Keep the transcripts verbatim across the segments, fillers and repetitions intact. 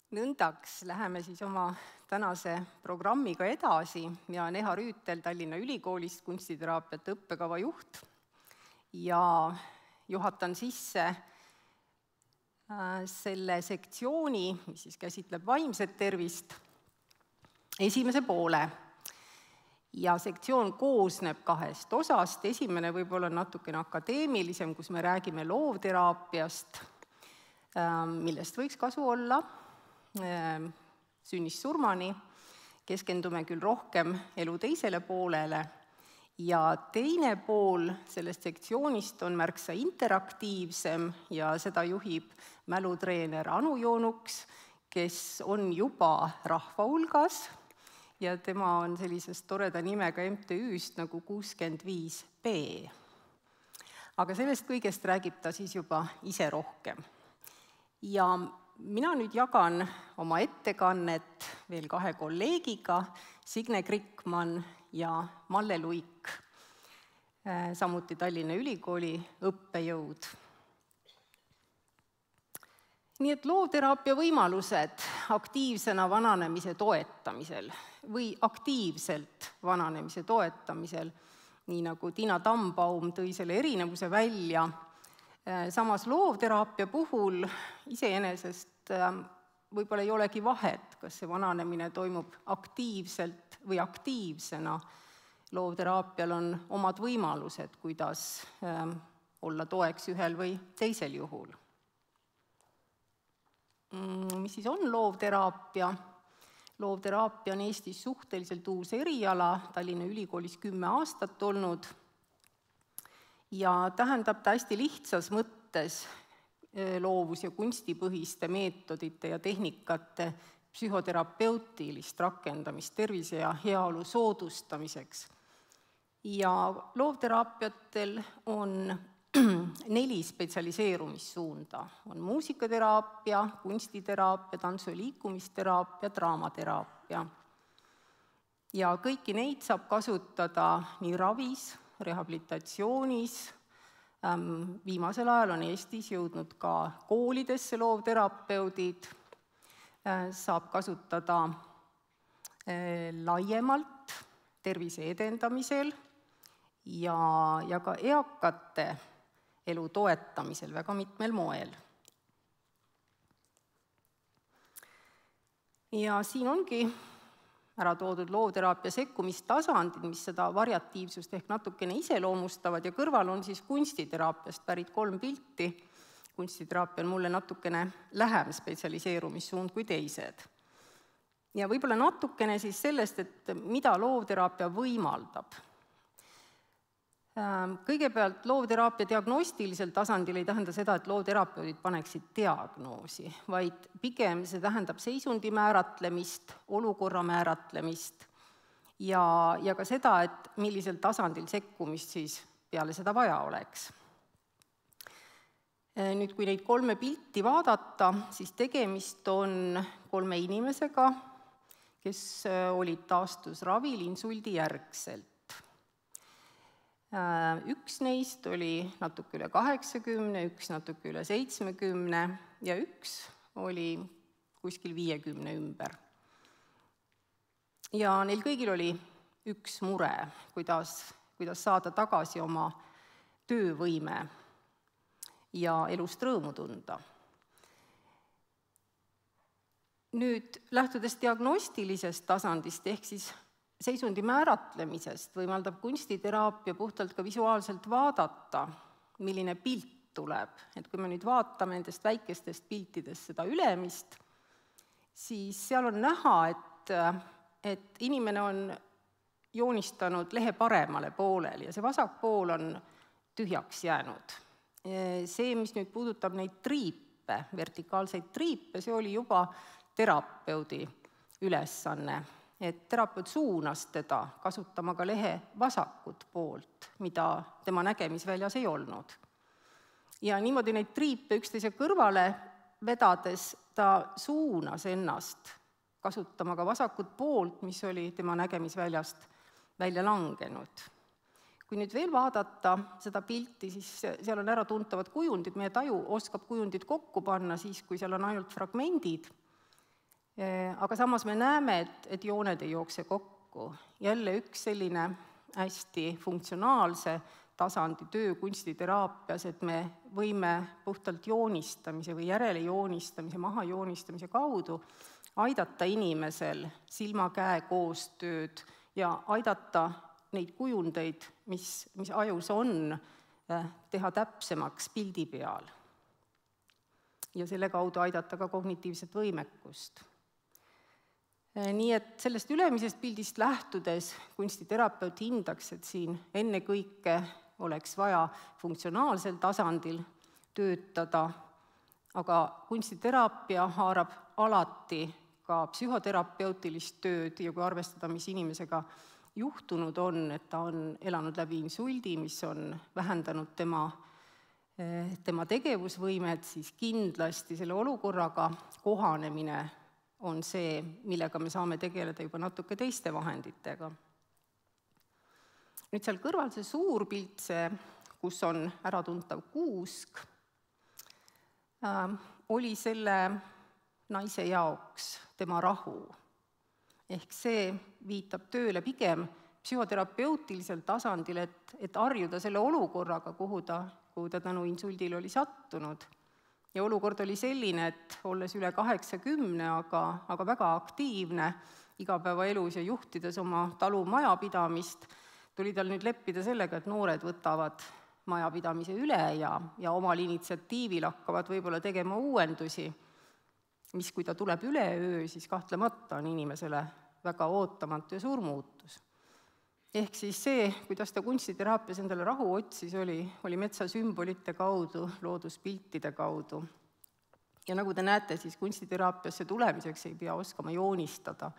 Nõndaks läheme siis oma tänase programmiga edasi. Mina olen Eha Rüütel, Tallinna Ülikoolist kunstiteraapiate õppekava juht ja juhatan sisse selle sektsiooni, mis siis käsitleb vaimset tervist, esimese poole. Ja sektsioon koosneb kahest osast. Esimene võib-olla natukene akadeemilisem, kus me räägime loovteraapiast, millest võiks kasu olla sünnist surmani, keskendume küll rohkem elu teisele poolele ja teine pool sellest sektsioonist on märksa interaktiivsem ja seda juhib mälutreener Anu Joonuks, kes on juba rahva hulgas ja tema on sellisest toreda nimega M T Ü-st nagu kuuskümmend viis B. Aga sellest kõigest räägib ta siis juba ise rohkem. Ja mina nüüd jagan oma ettekannet veel kahe kolleegiga, Signe Krikman ja Malle Luik, samuti Tallinna Ülikooli õppejõud. Nii et loovteraapia võimalused aktiivsena vananemise toetamisel või aktiivselt vananemise toetamisel, nii nagu Tiina Tambaum tõi selle erinevuse välja. Samas loovteraapia puhul iseenesest võib-olla ei olegi vahet, kas see vananemine toimub aktiivselt või aktiivsena. Loovteraapial on omad võimalused, kuidas olla toeks ühel või teisel juhul. Mis siis on loovteraapia? Loovteraapia on Eestis suhteliselt uus eriala, Tallinna Ülikoolis kümme aastat olnud. Ja tähendab ta hästi lihtsas mõttes loovus- ja kunstipõhiste meetodite ja tehnikate psühhoterapeutilist rakendamist tervise ja heaolu soodustamiseks. Ja loovteraapiatel on neli spetsialiseerumissuunda. On muusikateraapia, kunstiteraapia, tantsu- ja liikumisteraapia, draamateraapia. Ja kõiki neid saab kasutada nii ravis, rehabilitatsioonis, viimasel ajal on Eestis jõudnud ka koolidesse loovterapeudid, saab kasutada laiemalt tervise edendamisel ja, ja ka eakate elu toetamisel väga mitmel moel. Ja siin ongi ära toodud loovteraapia sekkumistasandid, mis seda variatiivsust ehk natukene iseloomustavad ja kõrval on siis kunstiteraapiast pärit kolm pilti. Kunstiteraapia on mulle natukene lähem spetsialiseerumissuund kui teised. Ja võib-olla natukene siis sellest, et mida loovteraapia võimaldab. Kõigepealt loovteraapia diagnostilisel tasandil ei tähenda seda, et loovterapeudid paneksid diagnoosi, vaid pigem see tähendab seisundi määratlemist, olukorra määratlemist ja, ja ka seda, et millisel tasandil sekkumist siis peale seda vaja oleks. Nüüd, kui neid kolme pilti vaadata, siis tegemist on kolme inimesega, kes olid taastusravil insuldi järgselt. Üks neist oli natuke üle kaheksakümne, üks natuke üle seitsmekümne ja üks oli kuskil viiekümne ümber. Ja neil kõigil oli üks mure, kuidas, kuidas saada tagasi oma töövõime ja elust rõõmu tunda. Nüüd, lähtudes diagnostilisest tasandist ehk siis seisundi määratlemisest võimaldab kunstiteraapia puhtalt ka visuaalselt vaadata, milline pilt tuleb. Et kui me nüüd vaatame nendest väikestest piltidest seda ülemist, siis seal on näha, et, et inimene on joonistanud lehe paremale poolele ja see vasak pool on tühjaks jäänud. See, mis nüüd puudutab neid triipe, vertikaalseid triipe, see oli juba terapeudi ülesanne. Et terapeut suunas teda kasutama ka lehe vasakut poolt, mida tema nägemisväljas ei olnud. Ja niimoodi neid triipe üksteise kõrvale vedades ta suunas ennast kasutama ka vasakut poolt, mis oli tema nägemisväljast välja langenud. Kui nüüd veel vaadata seda pilti, siis seal on ära tuntavad kujundid, meie taju oskab kujundid kokku panna siis, kui seal on ainult fragmendid. Aga samas me näeme, et, et jooned ei jookse kokku. Jälle üks selline hästi funktsionaalse tasandi töö kunstiteraapias, et me võime puhtalt joonistamise või järele joonistamise, maha joonistamise kaudu aidata inimesel silma-käe koostööd ja aidata neid kujundeid, mis, mis ajus on, teha täpsemaks pildi peal. Ja selle kaudu aidata ka kognitiivset võimekust. Nii et sellest ülemisest pildist lähtudes kunstiterapeut hindaks, et siin ennekõike oleks vaja funktsionaalsel tasandil töötada, aga kunstiteraapia haarab alati ka psühhoterapeutilist tööd ja kui arvestada, mis inimesega juhtunud on, et ta on elanud läbi insuldi, mis on vähendanud tema, tema tegevusvõimet, siis kindlasti selle olukorraga kohanemine on see, millega me saame tegeleda juba natuke teiste vahenditega. Nüüd seal kõrval see suur pilt, see, kus on äratuntav kuusk, äh, oli selle naise jaoks tema rahu. Ehk see viitab tööle pigem psühhoterapeutilisel tasandil, et, et harjuda selle olukorraga, kuhu ta, kuhu ta tänu insuldil oli sattunud. Ja olukord oli selline, et olles üle kaheksakümne, aga, aga väga aktiivne igapäevaelus ja juhtides oma talu majapidamist, tuli tal nüüd leppida sellega, et noored võtavad majapidamise üle ja, ja omal initsiatiivil hakkavad võib-olla tegema uuendusi, mis kui ta tuleb üleöö, siis kahtlemata on inimesele väga ootamatu ja suur muutus. Ehk siis see, kuidas ta kunstiteraapias endale rahu otsis, oli, oli metsasümbolite kaudu, looduspiltide kaudu. Ja nagu te näete, siis kunstiteraapiasse tulemiseks ei pea oskama joonistada.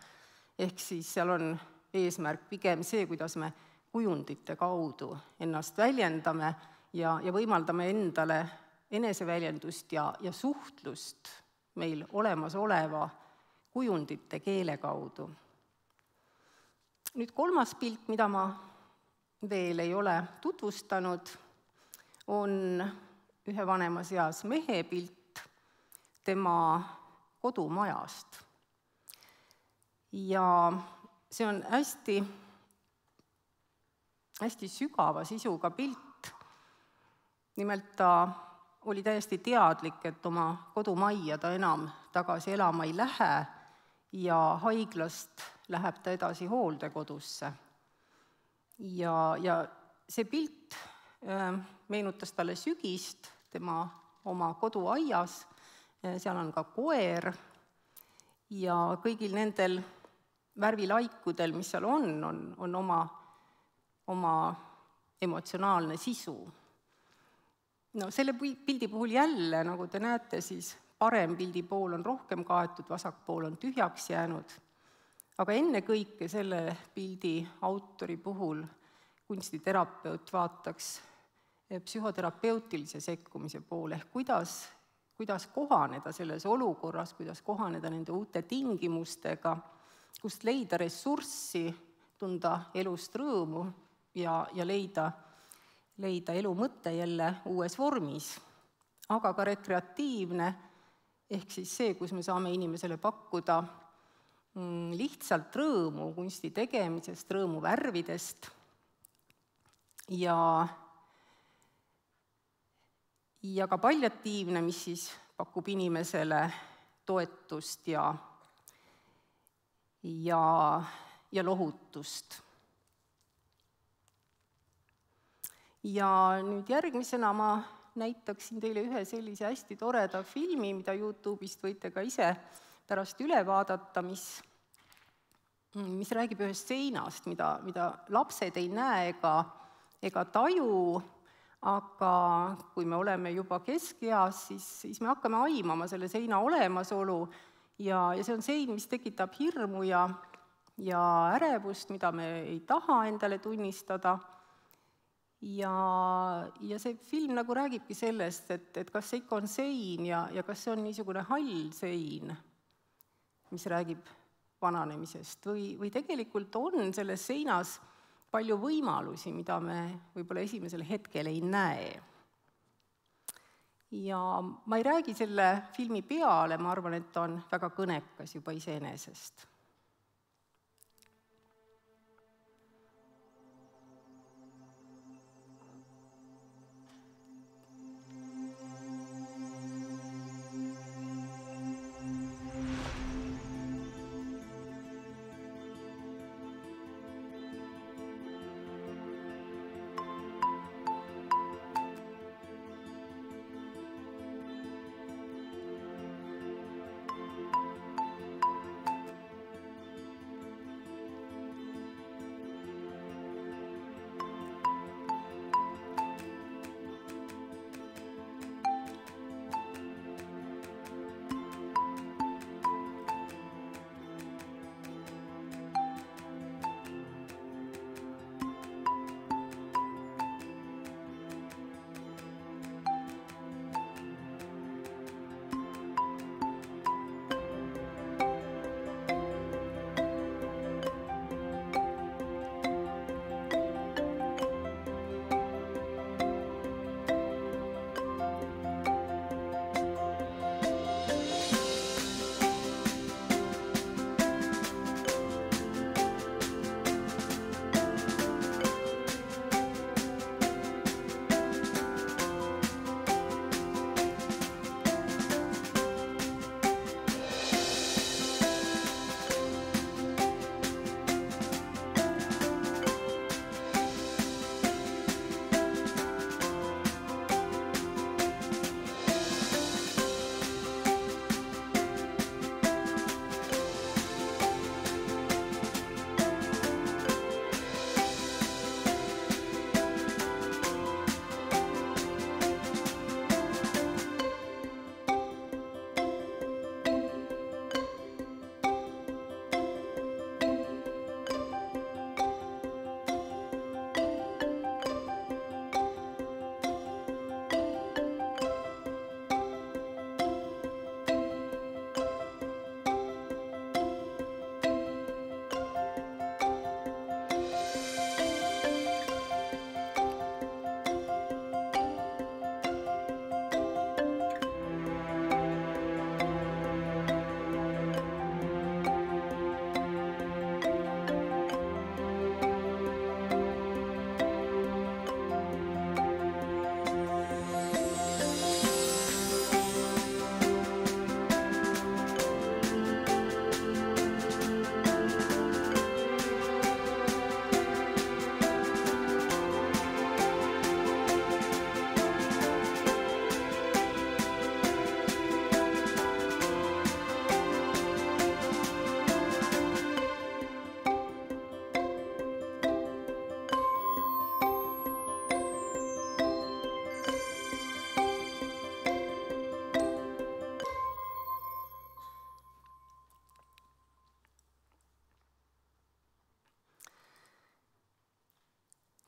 Ehk siis seal on eesmärk pigem see, kuidas me kujundite kaudu ennast väljendame ja, ja võimaldame endale eneseväljendust ja, ja suhtlust meil olemasoleva kujundite keele kaudu. Nüüd kolmas pilt, mida ma veel ei ole tutvustanud, on ühe vanemas eas mehe pilt tema kodumajast. Ja see on hästi, hästi sügava sisuga pilt. Nimelt ta oli täiesti teadlik, et oma kodumajja ta enam tagasi elama ei lähe ja haiglast läheb ta edasi hooldekodusse. Ja, ja see pilt äh, meenutas talle sügist tema oma koduaias, seal on ka koer ja kõigil nendel värvilaikudel, mis seal on, on, on oma, oma emotsionaalne sisu. No selle pildi puhul jälle, nagu te näete, siis parem pildi pool on rohkem kaetud, vasak pool on tühjaks jäänud. Aga ennekõike selle pildi autori puhul kunstiterapeut vaataks psühhoterapeutilise sekkumise poole, ehk kuidas, kuidas kohaneda selles olukorras, kuidas kohaneda nende uute tingimustega, kust leida ressurssi, tunda elust rõõmu ja, ja leida, leida elu mõte jälle uues vormis, aga ka rekreatiivne, ehk siis see, kus me saame inimesele pakkuda lihtsalt rõõmu kunsti tegemisest, rõõmu värvidest ja, ja ka palliatiivne, mis siis pakub inimesele toetust ja, ja, ja lohutust. Ja nüüd järgmisena ma näitaksin teile ühe sellise hästi toreda filmi, mida YouTube'ist võite ka ise pärast üle vaadata, mis, mis räägib ühest seinast, mida, mida lapsed ei näe ega, ega taju, aga kui me oleme juba keskeas, siis, siis me hakkame aimama selle seina olemasolu ja, ja see on sein, mis tekitab hirmu ja, ja ärevust, mida me ei taha endale tunnistada. Ja, ja see film nagu räägibki sellest, et, et kas see ikka on sein ja, ja kas see on niisugune hall sein, mis räägib vananemisest või, või tegelikult on selles seinas palju võimalusi, mida me võib-olla esimesel hetkel ei näe. ja ma ei räägi selle filmi peale, ma arvan, et ta on väga kõnekas juba iseenesest.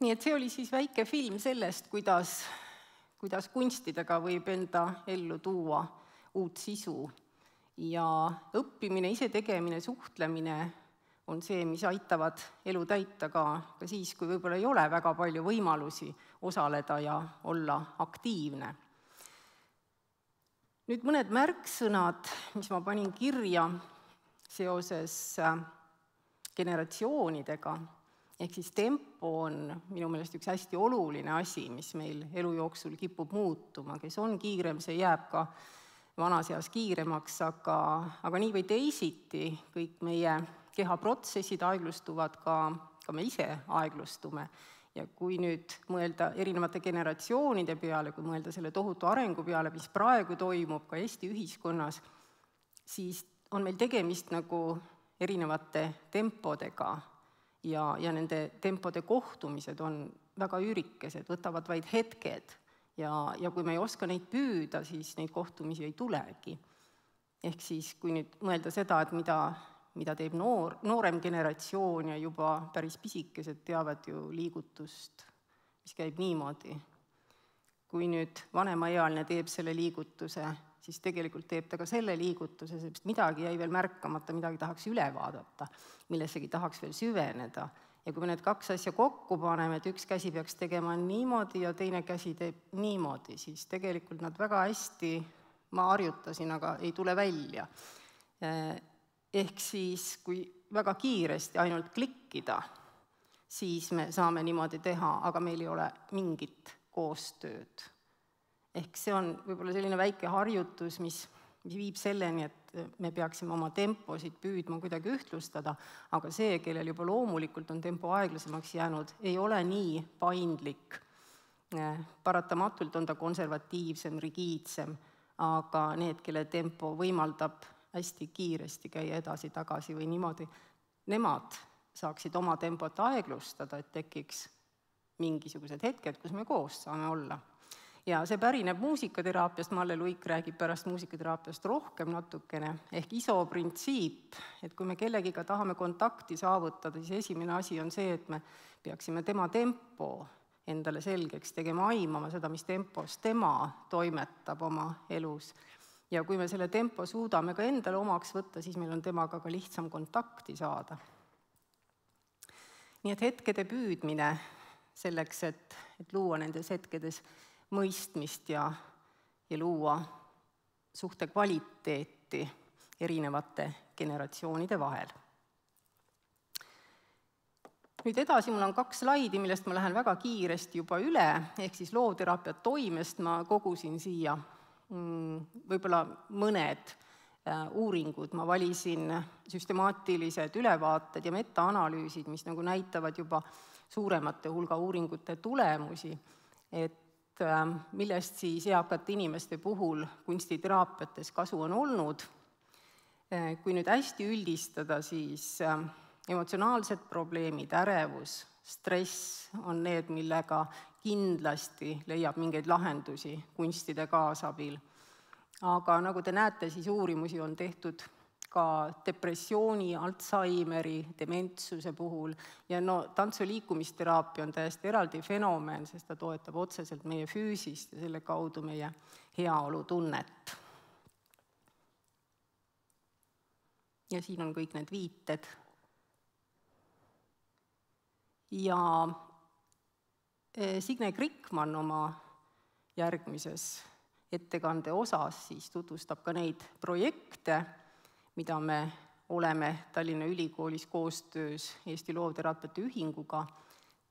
Nii et see oli siis väike film sellest, kuidas, kuidas kunstidega võib enda ellu tuua uut sisu. Ja õppimine, isetegemine, suhtlemine on see, mis aitavad elu täita ka, ka siis, kui võib-olla ei ole väga palju võimalusi osaleda ja olla aktiivne. Nüüd mõned märksõnad, mis ma panin kirja seoses generatsioonidega. Ehk siis tempo on minu meelest üks hästi oluline asi, mis meil elu jooksul kipub muutuma. Kes on kiirem, see jääb ka vanas eas kiiremaks, aga, aga nii või teisiti kõik meie kehaprotsessid aeglustuvad, ka, ka me ise aeglustume. Ja kui nüüd mõelda erinevate generatsioonide peale, kui mõelda selle tohutu arengu peale, mis praegu toimub ka Eesti ühiskonnas, siis on meil tegemist nagu erinevate tempodega. Ja, ja nende tempode kohtumised on väga üürikesed, võtavad vaid hetked ja, ja kui me ei oska neid püüda, siis neid kohtumisi ei tulegi. Ehk siis, kui nüüd mõelda seda, et mida, mida teeb noor, noorem generatsioon ja juba päris pisikesed teavad ju liigutust, mis käib niimoodi. Kui nüüd vanemaealine teeb selle liigutuse, siis tegelikult teeb ta ka selle liigutuse, sest midagi jäi veel märkamata, midagi tahaks üle vaadata, millessegi tahaks veel süveneda Ja kui me need kaks asja kokku paneme, et üks käsi peaks tegema niimoodi ja teine käsi teeb niimoodi, siis tegelikult nad väga hästi, ma harjutasin, aga ei tule välja. Ehk siis, kui väga kiiresti ainult klikkida, siis me saame niimoodi teha, aga meil ei ole mingit koostööd. Ehk see on võib-olla selline väike harjutus, mis, mis viib selleni, et me peaksime oma temposid püüdma kuidagi ühtlustada, aga see, kellel juba loomulikult on tempo aeglasemaks jäänud, ei ole nii paindlik. Paratamatult on ta konservatiivsem, rigiidsem, aga need, kelle tempo võimaldab hästi kiiresti käia edasi-tagasi või niimoodi, nemad saaksid oma tempot aeglustada, et tekiks mingisugused hetked, kus me koos saame olla. Ja see pärineb muusikateraapiast, Malle Luik räägib pärast muusikateraapiast rohkem natukene, ehk I S O printsiip, et kui me kellegiga tahame kontakti saavutada, siis esimene asi on see, et me peaksime tema tempo endale selgeks tegema, aimama seda, mis tempos tema toimetab oma elus. Ja kui me selle tempo suudame ka endale omaks võtta, siis meil on temaga ka lihtsam kontakti saada. Nii et hetkede püüdmine selleks, et, et luua nendes hetkedes mõistmist ja, ja luua suhte kvaliteeti erinevate generatsioonide vahel. Nüüd edasi mul on kaks slaidi, millest ma lähen väga kiiresti juba üle, ehk siis loovteraapia toimest ma kogusin siia võib-olla mõned uuringud, ma valisin süstemaatilised ülevaated ja metaanalüüsid, mis nagu näitavad juba suuremate hulga uuringute tulemusi, et millest siis eakate inimeste puhul kunstiteraapiates kasu on olnud. Kui nüüd hästi üldistada, siis emotsionaalsed probleemid, ärevus, stress on need, millega kindlasti leiab mingeid lahendusi kunstide kaasabil. Aga nagu te näete, siis uurimusi on tehtud ka depressiooni, Alzheimeri, dementsuse puhul ja no tantsu- liikumisteraapia on täiesti eraldi fenomen, sest ta toetab otseselt meie füüsist ja selle kaudu meie heaolutunnet. Ja siin on kõik need viited. Ja Signe Krikman oma järgmises ettekande osas siis tutvustab ka neid projekte, mida me oleme Tallinna Ülikoolis koostöös Eesti Loovteraapiate Ühinguga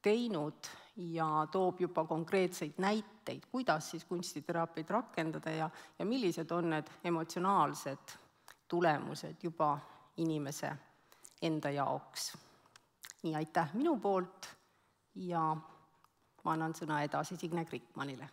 teinud ja toob juba konkreetseid näiteid, kuidas siis kunstiteraapiaid rakendada ja, ja millised on need emotsionaalsed tulemused juba inimese enda jaoks. Nii, aitäh minu poolt ja ma annan sõna edasi Signe Krikmanile.